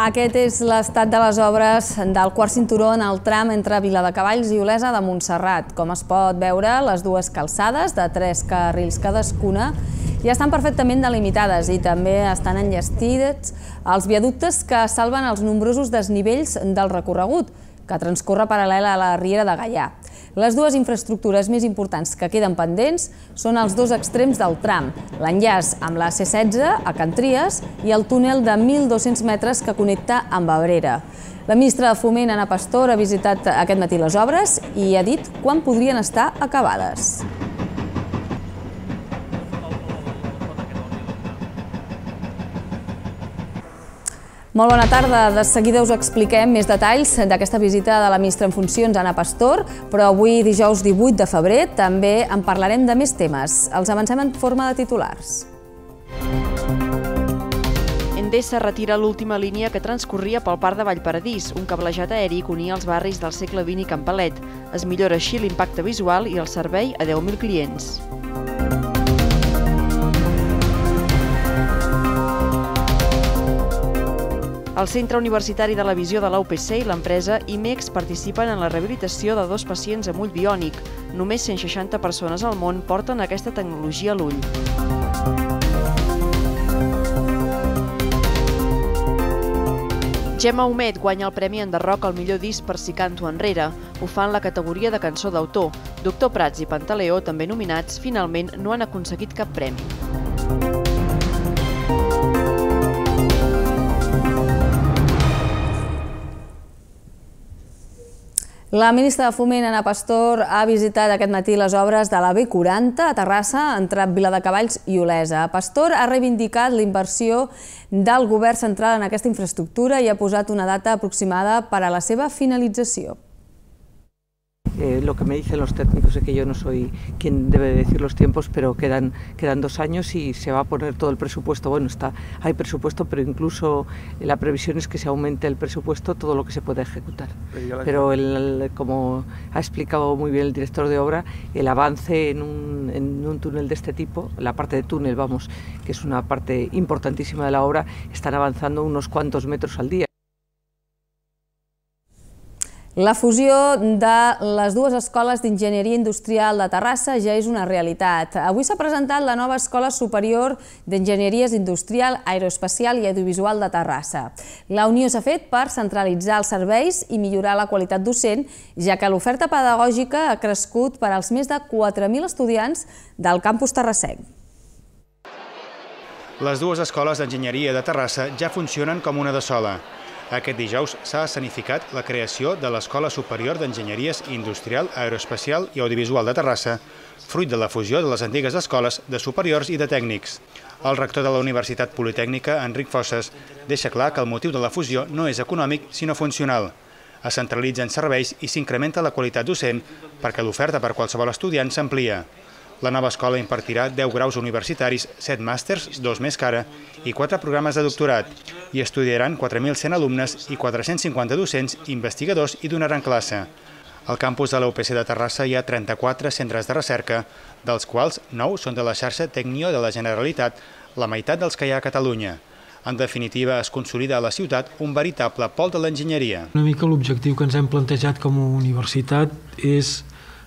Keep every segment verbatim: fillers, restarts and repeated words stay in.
Aquest és l'estat de les obres del quart cinturó en el tram entre Viladecavalls i Olesa de Montserrat. Com es pot veure, les dues calçades, de tres carrils cadascuna, ja estan perfectament delimitades i també estan enllestits els viaductes que salven els nombrosos desnivells del recorregut, que transcorre paral·lel a la Riera de Gaià. Les dues infraestructures més importants que queden pendents són els dos extrems del tram, l'enllaç amb la C setze a Can Tries i el túnel de mil dos-cents metres que connecta amb Abrera. La ministra de Foment, Ana Pastor, ha visitat aquest matí les obres i ha dit quan podrien estar acabades. Molt bona tarda. De seguida us expliquem més detalls d'aquesta visita de la ministra en funcions, Ana Pastor, però avui, dijous divuit de febrer, també en parlarem de més temes. Els avancem en forma de titulars. Endesa retira l'última línia que transcorria pel Parc de Vallparadís, un cablejat aeri que unia els barris del segle vint i Campalet. Es millora així l'impacte visual i el servei a deu mil clients. El Centre Universitari de la Visió de la U P C i l'empresa IMEX participen en la rehabilitació de dos pacients amb ull biònic. Només cent seixanta persones al món porten aquesta tecnologia a l'ull. Gemma Humet guanya el Premi Enderroc al millor disc per Si canto enrere. Ho fa en la categoria de cançó d'autor. Doctor Prats i Pantaleó, també nominats, finalment no han aconseguit cap premi. La ministra de Foment, Ana Pastor, ha visitat aquest matí les obres de la B quaranta a Terrassa, entre Viladecavalls i Olesa. Pastor ha reivindicat la inversió del govern central en aquesta infraestructura i ha posat una data aproximada per a la seva finalització. Eh, lo que me dicen los técnicos es que yo no soy quien debe decir los tiempos, pero quedan, quedan dos años y se va a poner todo el presupuesto. Bueno, está, hay presupuesto, pero incluso la previsión es que se aumente el presupuesto todo lo que se pueda ejecutar. Pero el, como ha explicado muy bien el director de obra, el avance en un, en un túnel de este tipo, la parte de túnel, vamos, que es una parte importantísima de la obra, están avanzando unos cuantos metros al día. La fusió de les dues escoles d'enginyeria industrial de Terrassa ja és una realitat. Avui s'ha presentat la nova Escola Superior d'Enginyeries Industrial, Aeroespacial i Audiovisual de Terrassa. La unió s'ha fet per centralitzar els serveis i millorar la qualitat docent, ja que l'oferta pedagògica ha crescut per als més de quatre mil estudiants del campus terrassenc. Les dues escoles d'enginyeria de Terrassa ja funcionen com una de sola. Aquest dijous s'ha escenificat la creació de l'Escola Superior d'Enginyeries Industrial, Aeroespacial i Audiovisual de Terrassa, fruit de la fusió de les antigues escoles de superiors i de tècnics. El rector de la Universitat Politècnica, Enric Fosses, deixa clar que el motiu de la fusió no és econòmic, sinó funcional. Es centralitzen serveis i s'incrementa la qualitat docent perquè l'oferta per qualsevol estudiant s'amplia. La nova escola impartirà deu graus universitaris, set màsters, dos més que ara, i quatre programes de doctorat. Hi estudiaran quatre mil cent alumnes i quatre-cents cinquanta docents, investigadors i donaran classe. Al campus de la U P C de Terrassa hi ha trenta-quatre centres de recerca, dels quals nou són de la xarxa Tecnio de la Generalitat, la meitat dels que hi ha a Catalunya. En definitiva, es consolida a la ciutat un veritable pol de l'enginyeria. Una mica l'objectiu que ens hem plantejat com a universitat és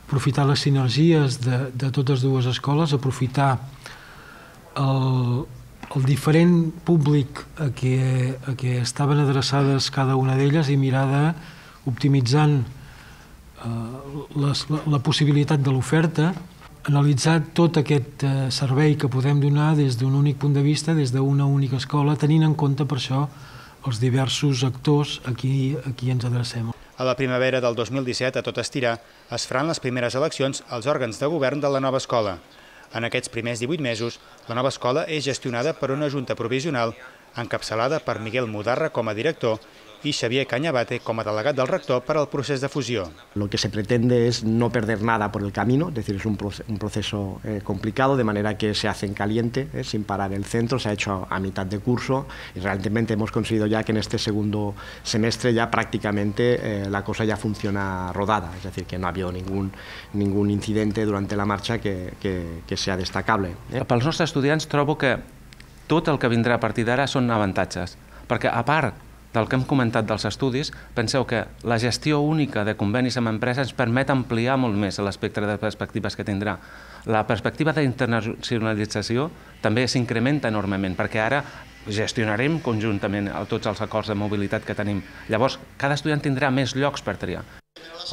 aprofitar les sinergies de, de totes dues escoles, aprofitar el, el diferent públic a què, a què estaven adreçades cada una d'elles i mirar d'optimitzant eh, les, la, la possibilitat de l'oferta, analitzar tot aquest eh, servei que podem donar des d'un únic punt de vista, des d'una única escola, tenint en compte per això els diversos actors a qui, a qui ens adrecem. A la primavera del dos mil disset, a tot estirar, es faran les primeres eleccions als òrgans de govern de la nova escola. En aquests primers divuit mesos, la nova escola és gestionada per una junta provisional encapçalada per Miguel Mudarra com a director y Xavier Cañabate como delegat del rector para el proceso de fusión. Lo que se pretende es no perder nada por el camino, es decir, es un proceso, un proceso eh, complicado, de manera que se hace en caliente, eh, sin parar el centro, se ha hecho a, a mitad de curso y realmente hemos conseguido ya que en este segundo semestre ya prácticamente eh, la cosa ya funciona rodada, es decir, que no ha habido ningún, ningún incidente durante la marcha que, que, que sea destacable. Eh? Pels nostres estudiants trobo que tot el que vindrà a partir d'ara són avantatges, perquè a part del que hem comentat dels estudis, penseu que la gestió única de convenis amb empreses ens permet ampliar molt més l'espectre de perspectives que tindrà. La perspectiva d'internacionalització també s'incrementa enormement, perquè ara gestionarem conjuntament tots els acords de mobilitat que tenim. Llavors, cada estudiant tindrà més llocs per triar.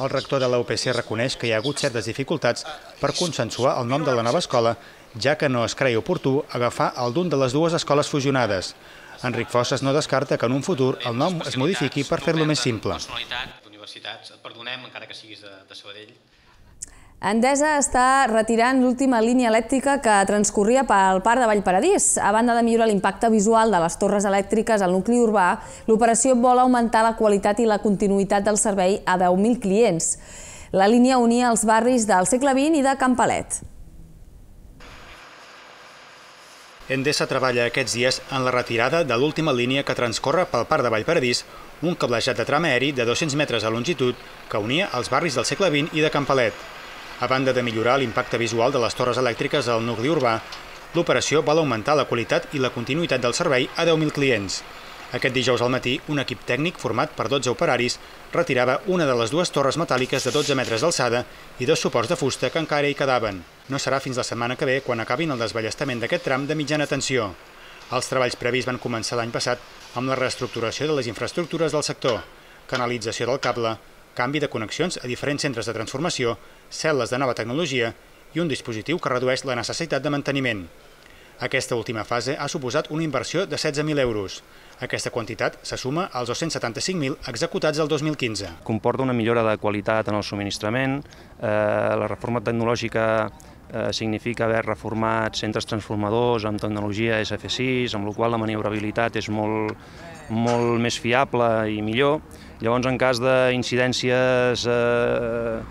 El rector de la U P C reconeix que hi ha hagut certes dificultats per consensuar el nom de la nova escola, ja que no es creia oportú agafar el d'un de les dues escoles fusionades. Enric Fossas no descarta que en un futur el nom es modifiqui per fer-lo més simple. Universitats, et perdonem, encara que siguis de Sabadell. Endesa està retirant l'última línia elèctrica que transcorria pel Parc de Vallparadís. A banda de millorar l'impacte visual de les torres elèctriques al nucli urbà, l'operació vol augmentar la qualitat i la continuïtat del servei a deu mil clients. La línia unia els barris del segle vint i de Can Palet. Endesa treballa aquests dies en la retirada de l'última línia que transcorre pel Parc de Vallparadís, un cablejat de tram aeri de dos-cents metres de longitud que unia els barris del segle vint i de Can Palet. A banda de millorar l'impacte visual de les torres elèctriques al nucli urbà, l'operació vol augmentar la qualitat i la continuïtat del servei a deu mil clients. Aquest dijous al matí, un equip tècnic format per dotze operaris retirava una de les dues torres metàl·liques de dotze metres d'alçada i dos suports de fusta que encara hi quedaven. No serà fins la setmana que ve quan acabin el desballestament d'aquest tram de mitjana tensió. Els treballs previs van començar l'any passat amb la reestructuració de les infraestructures del sector, canalització del cable, canvi de connexions a diferents centres de transformació, cel·les de nova tecnologia i un dispositiu que redueix la necessitat de manteniment. Aquesta última fase ha suposat una inversió de setze mil euros. Aquesta quantitat se suma als dos-cents setanta-cinc mil executats el dos mil quinze. Comporta una millora de qualitat en el subministrament, eh, la reforma tecnològica eh, significa haver reformat centres transformadors amb tecnologia S F sis, amb la qual la maniobrabilitat és molt, molt més fiable i millor. Llavors, en cas d'incidències eh,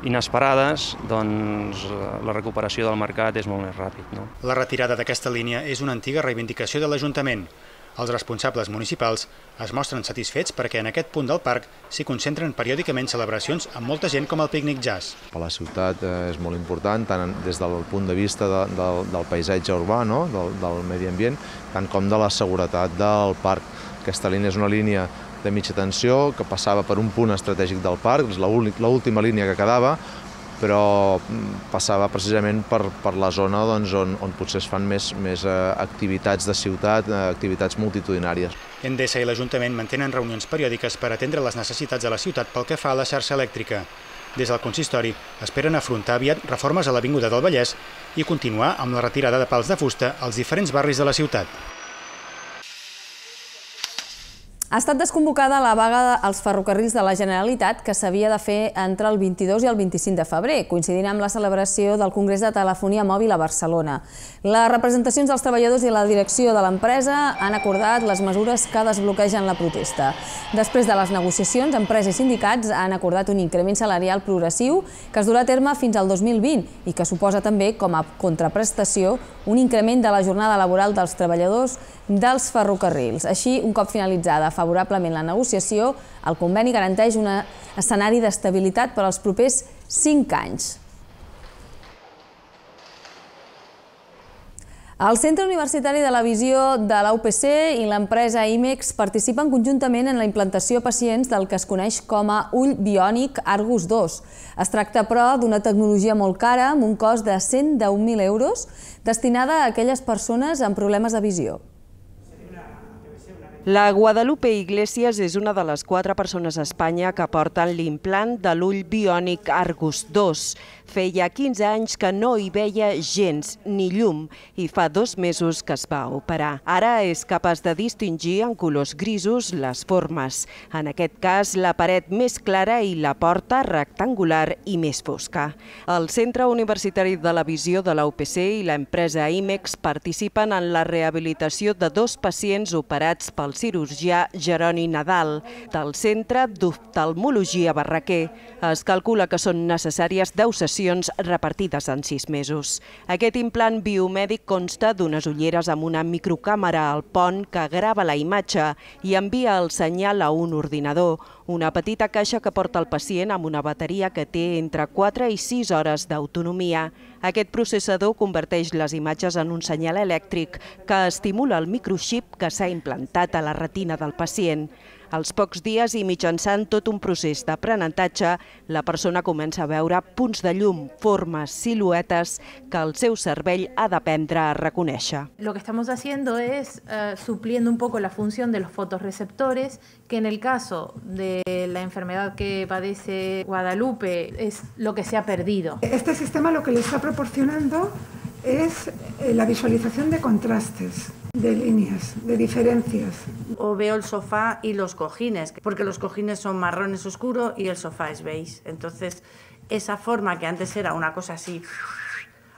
inesperades, doncs la recuperació del mercat és molt més ràpid. No? La retirada d'aquesta línia és una antiga reivindicació de l'Ajuntament. Els responsables municipals es mostren satisfets perquè en aquest punt del parc s'hi concentren periòdicament celebracions amb molta gent com el pícnic jazz. Per la ciutat és molt important, tant des del punt de vista de, de, del paisatge urbà, no? del, del medi ambient, tant com de la seguretat del parc. Aquesta línia és una línia de mitja tensió que passava per un punt estratègic del parc, és l'última línia que quedava, però passava precisament per, per la zona doncs, on, on potser es fan més, més activitats de ciutat, activitats multitudinàries. Endesa i l'Ajuntament mantenen reunions periòdiques per atendre les necessitats de la ciutat pel que fa a la xarxa elèctrica. Des del consistori esperen afrontar aviat reformes a l'Avinguda del Vallès i continuar amb la retirada de pals de fusta als diferents barris de la ciutat. Ha estat desconvocada la vaga als ferrocarrils de la Generalitat que s'havia de fer entre el vint-i-dos i el vint-i-cinc de febrer, coincidint amb la celebració del Congrés de Telefonia Mòbil a Barcelona. Les representacions dels treballadors i la direcció de l'empresa han acordat les mesures que desbloquegen la protesta. Després de les negociacions, empreses i sindicats han acordat un increment salarial progressiu que es durà a terme fins al dos mil vint i que suposa també, com a contraprestació, un increment de la jornada laboral dels treballadors dels ferrocarrils. Així, un cop finalitzada favorablement la negociació, el conveni garanteix un escenari d'estabilitat per als propers cinc anys. El Centre Universitari de la Visió de la U P C i l'empresa IMEX participen conjuntament en la implantació a pacients del que es coneix com a ull biònic Argus dos. Es tracta, però, d'una tecnologia molt cara, amb un cost de cent deu mil euros, destinada a aquelles persones amb problemes de visió. La Guadalupe Iglesias és una de les quatre persones a Espanya que porten l'implant de l'ull biònic Argus dos. Feia quinze anys que no hi veia gens ni llum i fa dos mesos que es va operar. Ara és capaç de distingir en colors grisos les formes. En aquest cas, la paret més clara i la porta rectangular i més fosca. El Centre Universitari de la Visió de la U P C i l'empresa IMEX participen en la rehabilitació de dos pacients operats pel cirurgià Jeroni Nadal, del Centre d'Oftalmologia Barraquer. Es calcula que són necessàries deu sessions sessions repartides en sis mesos. Aquest implant biomèdic consta d'unes ulleres amb una microcàmera al pont que grava la imatge i envia el senyal a un ordinador, una petita caixa que porta el pacient amb una bateria que té entre quatre i sis hores d'autonomia. Aquest processador converteix les imatges en un senyal elèctric que estimula el microxip que s'ha implantat a la retina del pacient. Als pocs dies i mitjançant tot un procés d'aprenentatge, la persona comença a veure punts de llum, formes, siluetes que el seu cervell ha d'aprendre a reconèixer. Lo que estamos haciendo es uh, supliendo un poco la función de los fotorreceptores, que en el caso de la enfermedad que padece Guadalupe es lo que se ha perdido. Este sistema lo que le está proporcionando es la visualización de contrastes, de líneas, de diferencias. O veo el sofá y los cojines, porque los cojines son marrones oscuros y el sofá es beige. Entonces, esa forma que antes era una cosa así,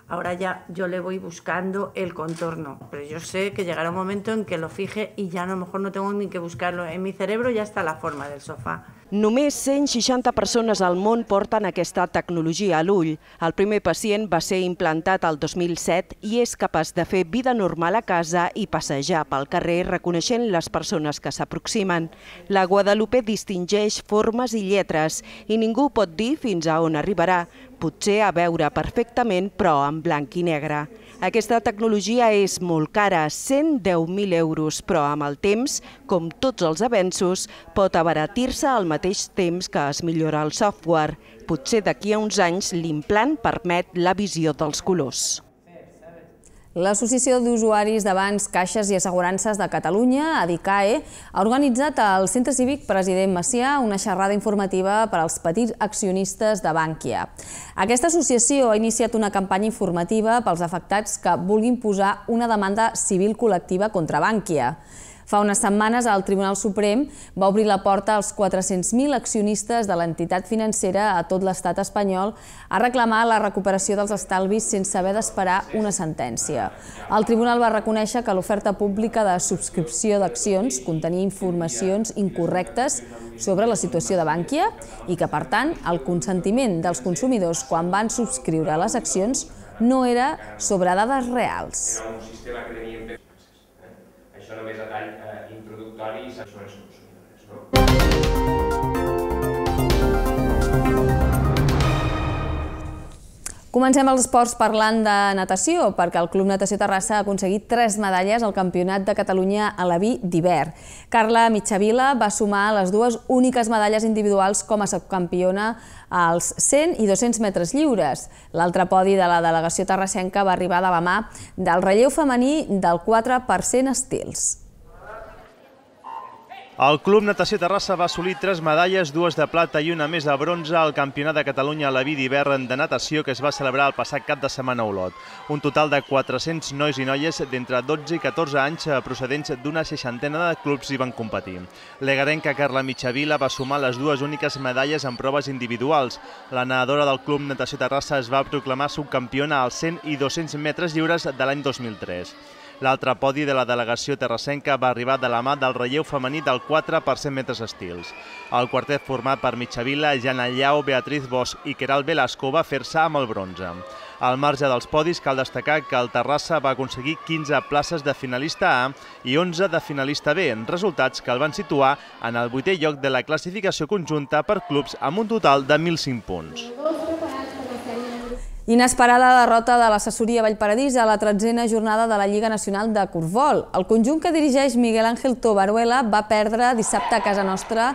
ahora ya yo le voy buscando el contorno. Pero yo sé que llegará un momento en que lo fije y ya a lo mejor no tengo ni que buscarlo. En mi cerebro ya está la forma del sofá. Només cent seixanta persones al món porten aquesta tecnologia a l'ull. El primer pacient va ser implantat el dos mil set i és capaç de fer vida normal a casa i passejar pel carrer reconeixent les persones que s'aproximen. La Guadalupe distingeix formes i lletres i ningú pot dir fins a on arribarà. Potser a veure perfectament, però en blanc i negre. Aquesta tecnologia és molt cara, cent deu mil euros, però amb el temps, com tots els avenços, pot abaratir-se al mateix temps que es millora el software. Potser d'aquí a uns anys l'implant permet la visió dels colors. L'Associació d'Usuaris de Bancs, Caixes i Assegurances de Catalunya, ADICAE, ha organitzat al Centre Cívic President Macià una xerrada informativa per als petits accionistes de Bankia. Aquesta associació ha iniciat una campanya informativa pels afectats que vulguin posar una demanda civil col·lectiva contra Bankia. Fa unes setmanes el Tribunal Suprem va obrir la porta als quatre-cents mil accionistes de l'entitat financera a tot l'estat espanyol a reclamar la recuperació dels estalvis sense haver d'esperar una sentència. El tribunal va reconèixer que l'oferta pública de subscripció d'accions contenia informacions incorrectes sobre la situació de Bankia i que, per tant, el consentiment dels consumidors quan van subscriure les accions no era sobre dades reals. Això només a tall introductori i són els consumidors, no? Comencem els esports parlant de natació, perquè el Club Natació Terrassa ha aconseguit tres medalles al Campionat de Catalunya a la V d'hivern. Carla Mitjavila va sumar les dues úniques medalles individuals com a subcampiona als cent i dos-cents metres lliures. L'altre podi de la delegació terrassenca va arribar de la mà del relleu femení del quatre per cent estils. El Club Natació Terrassa va assolir tres medalles, dues de plata i una més de bronze al Campionat de Catalunya a la V d'hivern de natació que es va celebrar el passat cap de setmana a Olot. Un total de quatre-cents nois i noies d'entre dotze i catorze anys procedents d'una seixantena de clubs hi van competir. L'egarenca Carla Mitjavila va sumar les dues úniques medalles en proves individuals. La nedadora del Club Natació Terrassa es va proclamar subcampiona als cent i dos-cents metres lliures de l'any dos mil tres. L'altre podi de la delegació terrassenca va arribar de la mà del relleu femení del quatre per cent metres estils. El quartet format per Mitjavila, Jana Llau, Beatriz Bosch i Queralt Velasco va fer-se amb el bronze. Al marge dels podis cal destacar que el Terrassa va aconseguir quinze places de finalista A i onze de finalista B, resultats que el van situar en el vuitè lloc de la classificació conjunta per clubs amb un total de mil cinc punts. Inesperada derrota de l'assessoria Vallparadís a la tretzena jornada de la Lliga Nacional de Corfbol. El conjunt que dirigeix Miguel Ángel Tobaruela va perdre dissabte a casa nostra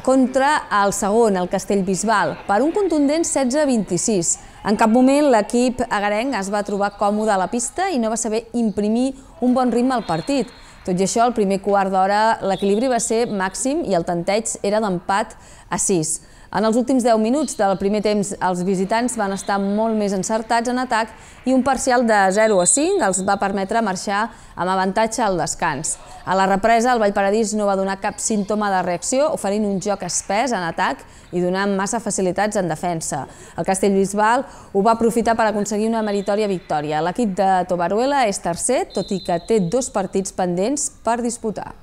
contra el segon, el Castellbisbal, per un contundent setze a vint-i-sis. En cap moment l'equip agarenc es va trobar còmode a la pista i no va saber imprimir un bon ritme al partit. Tot i això, al primer quart d'hora l'equilibri va ser màxim i el tanteig era d'empat a sis. En els últims deu minuts del primer temps, els visitants van estar molt més encertats en atac i un parcial de zero a cinc els va permetre marxar amb avantatge al descans. A la represa, el Vallparadís no va donar cap símptoma de reacció, oferint un joc espès en atac i donant massa facilitats en defensa. El Castellbisbal ho va aprofitar per aconseguir una meritòria victòria. L'equip de Tobaruela és tercer, tot i que té dos partits pendents per disputar.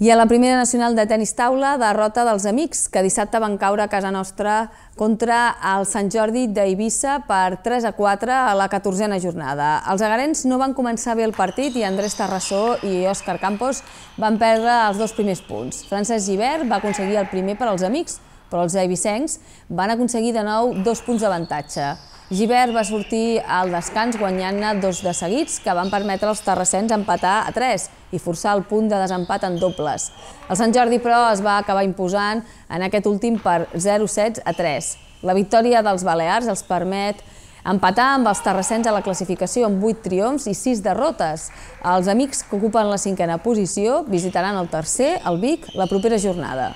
I a la primera nacional de tenis taula, derrota dels Amics, que dissabte van caure a casa nostra contra el Sant Jordi d'Eivissa per tres a quatre a la catorzena jornada. Els egarens no van començar bé el partit i Andrés Tarrassó i Òscar Campos van perdre els dos primers punts. Francesc Gibert va aconseguir el primer per als Amics, però els eivissencs van aconseguir de nou dos punts d'avantatge. Gibert va sortir al descans guanyant-ne dos de seguits que van permetre als terrassens empatar a tres i forçar el punt de desempat en dobles. El Sant Jordi, però, es va acabar imposant en aquest últim per zero set a tres. La victòria dels balears els permet empatar amb els terrassens a la classificació amb vuit triomfs i sis derrotes. Els Amics, que ocupen la cinquena posició, visitaran el tercer, el Vic, la propera jornada.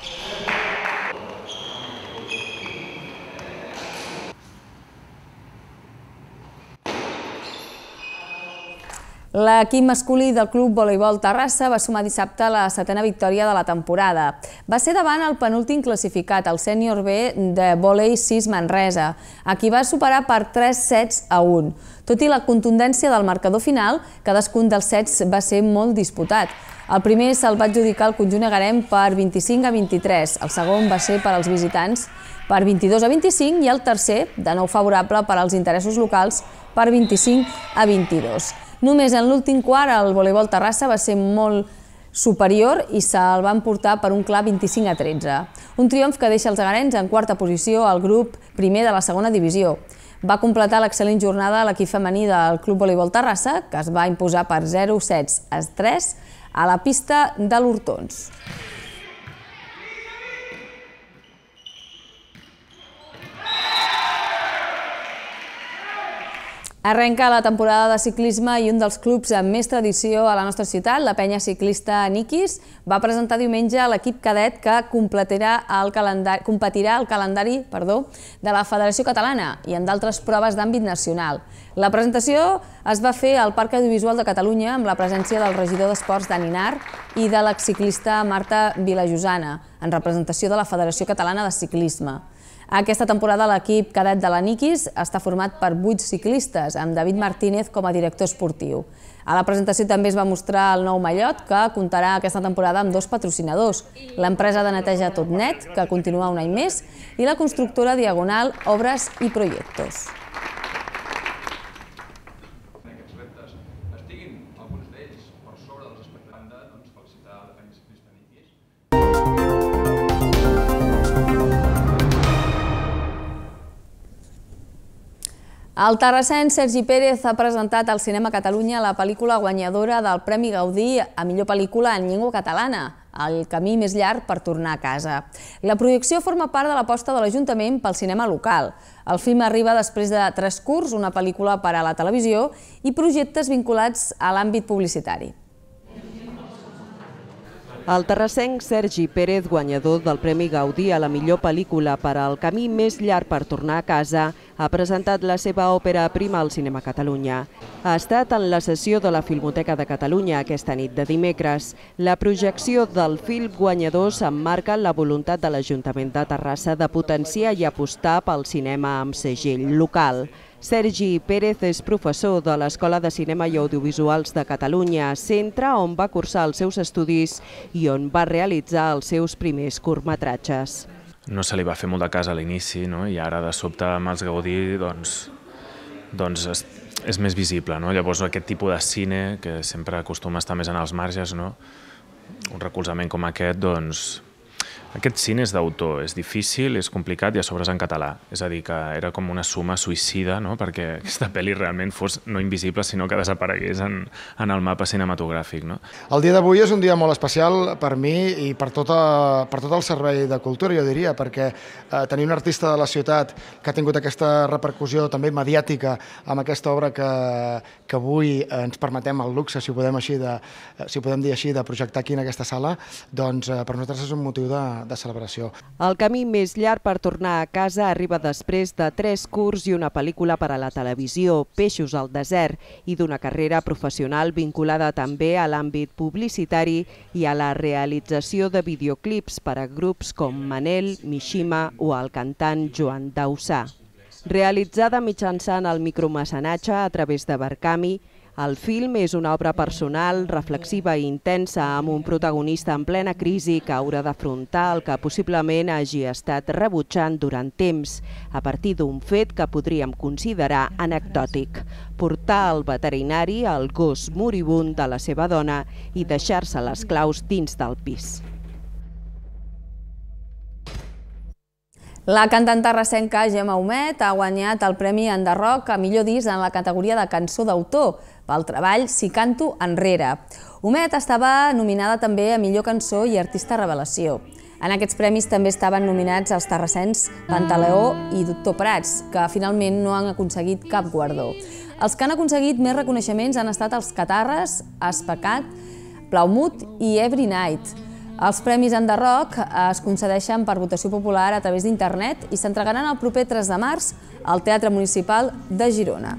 L'equip masculí del Club Voleibol Terrassa va sumar dissabte la setena victòria de la temporada. Va ser davant el penúltim classificat, el sènior B de vòlei sis Manresa, a qui va superar per tres sets a un. Tot i la contundència del marcador final, cadascun dels sets va ser molt disputat. El primer se'l va adjudicar el conjunt egarem per vint-i-cinc a vint-i-tres, el segon va ser per als visitants per vint-i-dos a vint-i-cinc i el tercer, de nou favorable per als interessos locals, per vint-i-cinc a vint-i-dos. Només en l'últim quart el voleibol Terrassa va ser molt superior i se'l van portar per un clar vint-i-cinc a tretze. Un triomf que deixa els egarens en quarta posició al grup primer de la segona divisió. Va completar l'excel·lent jornada l'equip femení del Club Voleibol Terrassa, que es va imposar per zero sets a tres a la pista de l'Hortons. Arrenca la temporada de ciclisme i un dels clubs amb més tradició a la nostra ciutat, la penya ciclista Niquis, va presentar diumenge l'equip cadet que competirà el calendari de la Federació Catalana i en d'altres proves d'àmbit nacional. La presentació es va fer al Parc Audiovisual de Catalunya amb la presència del regidor d'Esports Dani Nar i de l'exciclista Marta Vilajosana, en representació de la Federació Catalana de Ciclisme. Aquesta temporada l'equip cadet de la Niquis està format per vuit ciclistes, amb David Martínez com a director esportiu. A la presentació també es va mostrar el nou mallot, que comptarà aquesta temporada amb dos patrocinadors, l'empresa de neteja Tot Net, que continua un any més, i la constructora Diagonal Obres i Proyectos. El terrassenc Sergi Pérez ha presentat al Cinema Catalunya la pel·lícula guanyadora del Premi Gaudí a millor pel·lícula en llengua catalana, El camí més llarg per tornar a casa. La projecció forma part de l'aposta de l'Ajuntament pel cinema local. El film arriba després de Tres curts, una pel·lícula per a la televisió, i projectes vinculats a l'àmbit publicitari. El terrassenc Sergi Pérez, guanyador del Premi Gaudí a la millor pel·lícula per al camí més llarg per tornar a casa, ha presentat la seva òpera prima al Cinema Catalunya. Ha estat en la sessió de la Filmoteca de Catalunya aquesta nit de dimecres. La projecció del film guanyador s'emmarca en la voluntat de l'Ajuntament de Terrassa de potenciar i apostar pel cinema amb segell local. Sergi Pérez és professor de l'Escola de Cinema i Audiovisuals de Catalunya, centre on va cursar els seus estudis i on va realitzar els seus primers curtmetratges. No se li va fer molt de cas a l'inici, no? I ara de sobte amb els Gaudí doncs, doncs és, és més visible. No? Llavors aquest tipus de cine, que sempre acostuma a estar més en els marges, no? Un recolzament com aquest, doncs, aquest cine és d'autor, és difícil, és complicat i a sobre és en català. És a dir, que era com una suma suïcida, no? Perquè aquesta pel·li realment fos no invisible, sinó que desaparegués en, en el mapa cinematogràfic. No? El dia d'avui és un dia molt especial per mi i per, tota, per tot el servei de cultura, jo diria, perquè eh, tenir un artista de la ciutat que ha tingut aquesta repercussió també mediàtica amb aquesta obra que, que avui ens permetem el luxe, si ho podem, així de, si ho podem dir així, de projectar aquí en aquesta sala, doncs eh, per nosaltres és un motiu de, de celebració. El camí més llarg per tornar a casa arriba després de tres curts i una pel·lícula per a la televisió, Peixos al desert, i d'una carrera professional vinculada també a l'àmbit publicitari i a la realització de videoclips per a grups com Manel, Mishima o el cantant Joan Dausà. Realitzada mitjançant el micromecenatge a través de Barcami, El film és una obra personal, reflexiva i intensa, amb un protagonista en plena crisi que haurà d'afrontar el que possiblement hagi estat rebutjant durant temps, a partir d'un fet que podríem considerar anecdòtic: portar al veterinari el gos moribund de la seva dona i deixar-se les claus dins del pis. La cantant terrassenca Gemma Humet ha guanyat el Premi Enderroc a millor disc en la categoria de cançó d'autor pel treball Si canto enrere. Humet estava nominada també a millor cançó i artista revelació. En aquests premis també estaven nominats els terrassens Pantaleó i Doctor Prats, que finalment no han aconseguit cap guardó. Els que han aconseguit més reconeixements han estat els Catarres, Especat, Plaumut i Every Night. Els Premis Enderroc es concedeixen per votació popular a través d'internet i s'entregaran el proper tres de març al Teatre Municipal de Girona.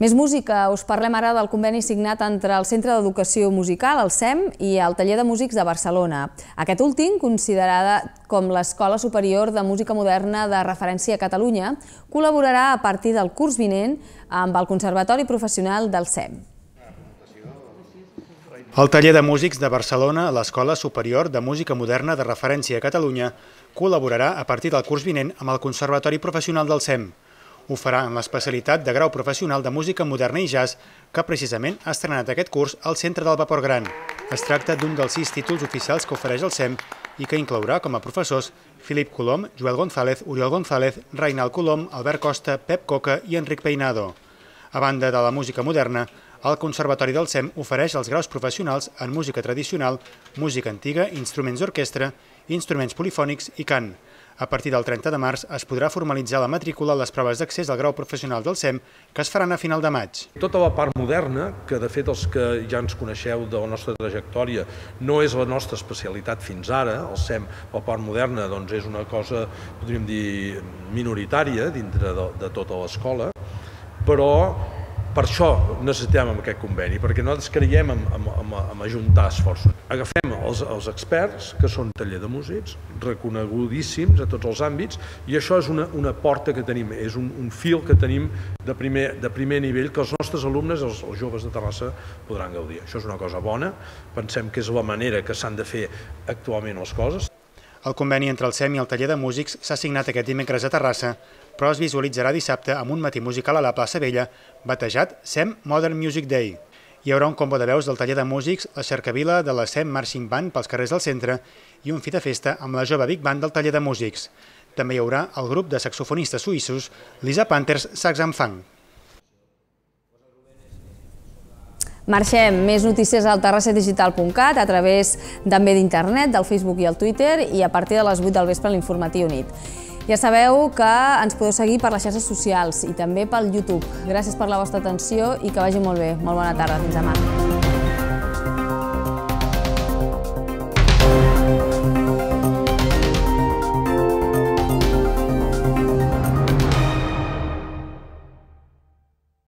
Més música. Us parlem ara del conveni signat entre el Centre d'Educació Musical, el C E M, i el Taller de Músics de Barcelona. Aquest últim, considerada com l'Escola Superior de Música Moderna de referència a Catalunya, col·laborarà a partir del curs vinent amb el Conservatori Professional del C E M. El Taller de Músics de Barcelona, l'Escola Superior de Música Moderna de referència a Catalunya, col·laborarà a partir del curs vinent amb el Conservatori Professional del C E M. Ho farà en l'especialitat de grau professional de música moderna i jazz que precisament ha estrenat aquest curs al Centre del Vapor Gran. Es tracta d'un dels sis títols oficials que ofereix el C E M i que inclourà com a professors Filip Colom, Joel González, Oriol González, Reinald Colom, Albert Costa, Pep Coca i Enric Peinado. A banda de la música moderna, el Conservatori del C E M ofereix els graus professionals en música tradicional, música antiga, instruments d'orquestra, instruments polifònics i cant. A partir del trenta de març es podrà formalitzar la matrícula a les proves d'accés al grau professional del C E M que es faran a final de maig. Tota la part moderna, que de fet els que ja ens coneixeu de la nostra trajectòria no és la nostra especialitat fins ara, el C E M, la part moderna doncs, és una cosa, podríem dir, minoritària dintre de, de tota l'escola, però per això necessitem aquest conveni, perquè nosaltres creiem en, en, en, en ajuntar esforços. Agafem els, els experts, que són taller de músics, reconegudíssims a tots els àmbits, i això és una, una porta que tenim, és un, un fil que tenim de primer, de primer nivell que els nostres alumnes, els, els joves de Terrassa, podran gaudir. Això és una cosa bona, pensem que és la manera que s'han de fer actualment les coses. El conveni entre el C E M i el Taller de Músics s'ha signat aquest dimecres a Terrassa, però es visualitzarà dissabte amb un matí musical a la plaça Vella, batejat C E M Modern Music Day. Hi haurà un combo de veus del Taller de Músics, la cercavila de la C E M Marching Band pels carrers del centre i un fi de festa amb la jove Big Band del Taller de Músics. També hi haurà el grup de saxofonistes suïssos Lisa Panthers Sax and Funk. Marxem. Més notícies al terrassa digital punt cat a través també d'internet, del Facebook i el Twitter i a partir de les vuit del vespre a l'informatiu nit. Ja sabeu que ens podeu seguir per les xarxes socials i també pel YouTube. Gràcies per la vostra atenció i que vagi molt bé. Molt bona tarda. Fins demà.